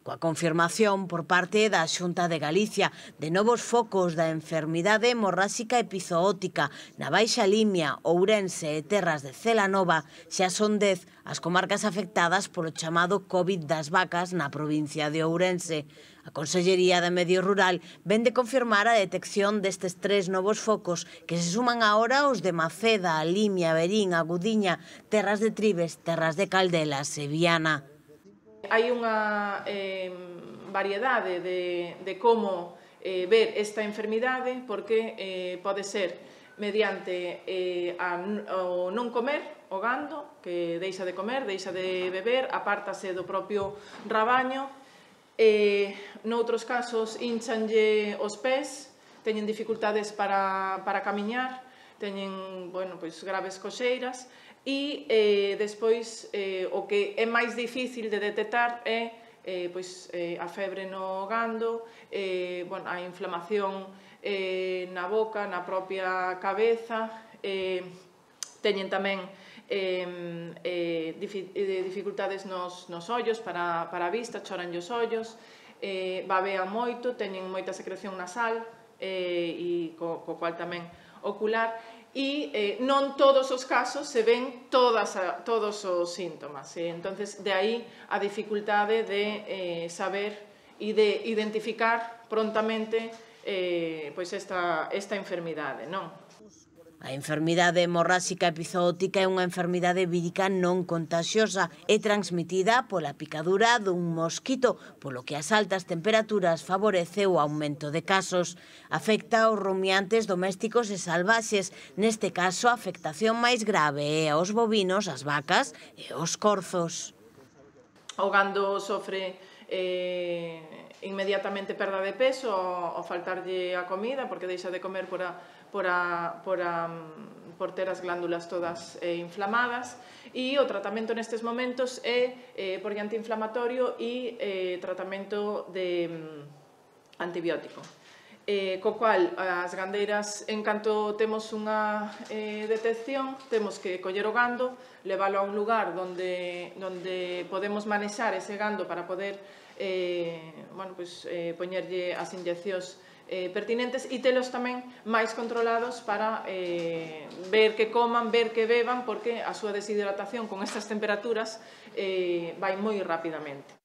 Coa confirmación por parte da Xunta de Galicia de novos focos da enfermidade hemorráxica epizootica na Baixa Limia, Ourense e Terras de Celanova, xa son 10 as comarcas afectadas polo chamado COVID das vacas na provincia de Ourense. A Consellería de Medio Rural ven de confirmar a detección destes 3 novos focos que se suman agora aos de Maceda, Limia, Verín, Agudiña, Terras de Tribes, Terras de Caldelas e Viana. Hai unha variedade de como ver esta enfermidade, porque pode ser mediante o non comer o gando, que deixa de comer, deixa de beber, apártase do propio rabaño. Noutros casos, hinchanlle os pés, teñen dificultades para camiñar, teñen graves coxeiras, e despois o que é máis difícil de detectar é a febre no gando, a inflamación na boca, na propia cabeza, teñen tamén dificultades nos ollos para a vista, choranlle os ollos, babean moito, teñen moita secreción nasal e co cual tamén ocular, e non todos os casos se ven todos os síntomas. Entonces, de aí a dificultade de saber e de identificar prontamente esta enfermidade, non? A enfermidade hemorráxica epizootica é unha enfermidade vírica non contaxiosa e transmitida pola picadura dun mosquito, polo que as altas temperaturas favorece o aumento de casos. Afecta aos rumiantes domésticos e salvaxes, neste caso a afectación máis grave é aos bovinos, as vacas e aos corzos. O gando sofre inmediatamente perda de peso ao faltarlle a comida, porque deixa de comer por ter as glándulas todas inflamadas, e o tratamento nestes momentos é por vía antiinflamatorio e tratamento de antibiótico. Co cual, as gandeiras, en canto temos unha detección, temos que coller o gando, leválo a un lugar onde podemos manexar ese gando para poder poñerlle as inyeccións pertinentes e telos tamén máis controlados para ver que coman, ver que beban, porque a súa deshidratación con estas temperaturas vai moi rapidamente.